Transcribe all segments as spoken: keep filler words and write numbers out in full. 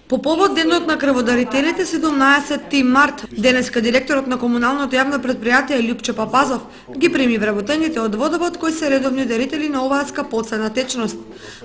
По повод денот на крводарителите седумнаесетти март, денеска директорот на комуналното јавно претпријатие Љупчо Папазов ги прими вработените од Водовод кои се редовни дарители на оваа скапоцена течност.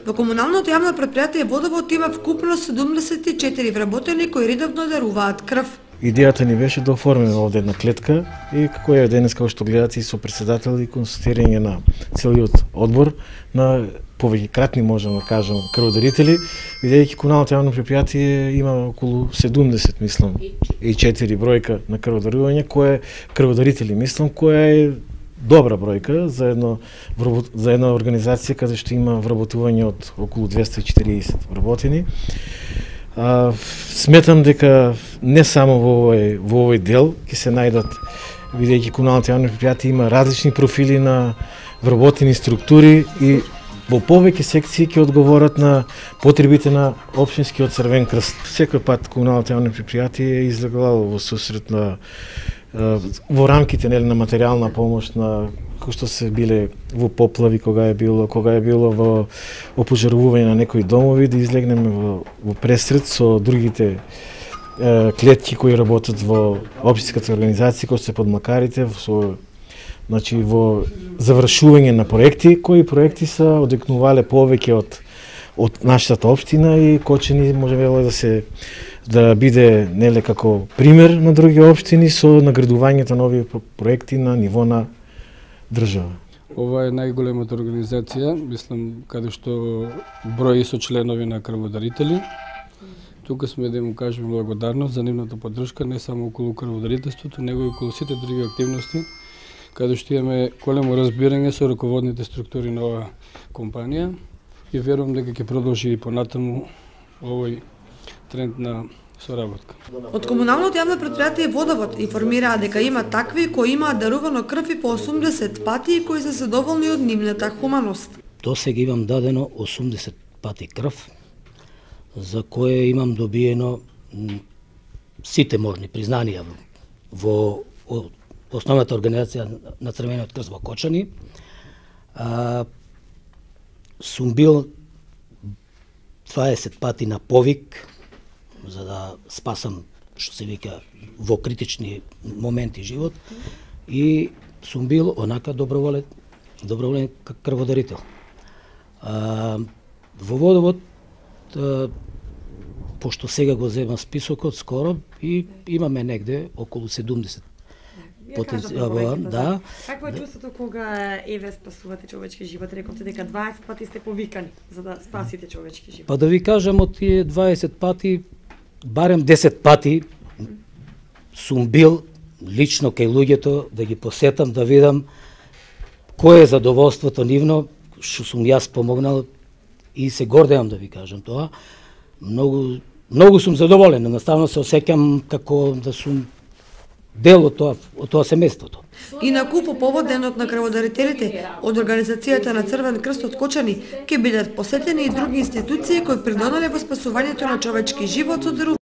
Во комуналното јавно претпријатие Водовод има вкупно седумдесет и четири вработени кои редовно даруваат крв. Идејата ни беше да оформиме овде една клетка и како е денес, како што гледате, и со претседател и констатирање на целиот одбор на повеќекратни, можеме да кажем, крводарители, бидејќи комуналното јавно претпријатие има околу седумдесет, мислам, и четири бројка на крводарување, кој е крводарители, мислам, која е добра бројка за едно за една организација каде што има вработување од околу двесте и четириесет вработени. А, сметам дека не само во овој во овој дел ќе се најдат, бидејќи комуналното јавно претпријатие има различни профили на вработени структури и во повеќе секции ќе одговорат на потребите на општинскиот Црвен крст. Секој пат комуналното јавно претпријатие е излегало во сусрет на во рамките, нели, на материјална помош на кои што се биле во поплави, кога е било, кога е било во опожарување на некои домови, да излегнеме во, во пресред со другите е, клетки кои работат во општинската организација, кои се под макарите, со значи во завршување на проекти, кои проекти се одекнувале повеќе од од нашата општина и Кочани може да се да биде, нели, како пример на други општини со наградувањето на овие проекти на ниво на држава. Ова е најголемата организација, мислам, каде што брои со членови на крводарители. Тука сме да му кажеме благодарност за нивната поддршка не само околу крводарителството, него и околу сите други активности, каде што имаме големо разбирање со раководните структури на оваа компанија и верувам дека ќе продолжи и понатаму овој тренд на соработка. Од комуналното јавно претпријатие Водовод информираа дека има такви кои имаат дарувано крв и по осумдесет пати и кои се задоволни од нивната хуманост. До сега имам дадено осумдесет пати крв, за кое имам добиено сите можни признанија во основната организација на Црвениот крст во Кочани. А, сум бил дваесет пати на повик за да спасам, што се вика, во критични моменти живот и сум бил онака доброволен, доброволен крводарител. А, во Водовод, а, пошто сега го земам списокот скоро и имаме негде околу седумдесет потенцијал, да. Какво е чувството кога еве спасувате човечки живот? Рековте дека дваесет пати сте повикани за да спасите човечки живот. Па да ви кажам, од тие дваесет пати, барем десет пати сум бил лично кај луѓето да ги посетам, да видам кое е задоволството нивно, што сум јас помогнал и се гордеам да ви кажам тоа. Многу многу сум задоволен, едноставно се осеќам како да сум дел од тоа, од тоа семејството. Инаку, по повод денот на крводарителите, од организацијата на Црвен крст од Кочани ќе бидат посетени и други институции кои придонеле во спасувањето на човечки живот со дарување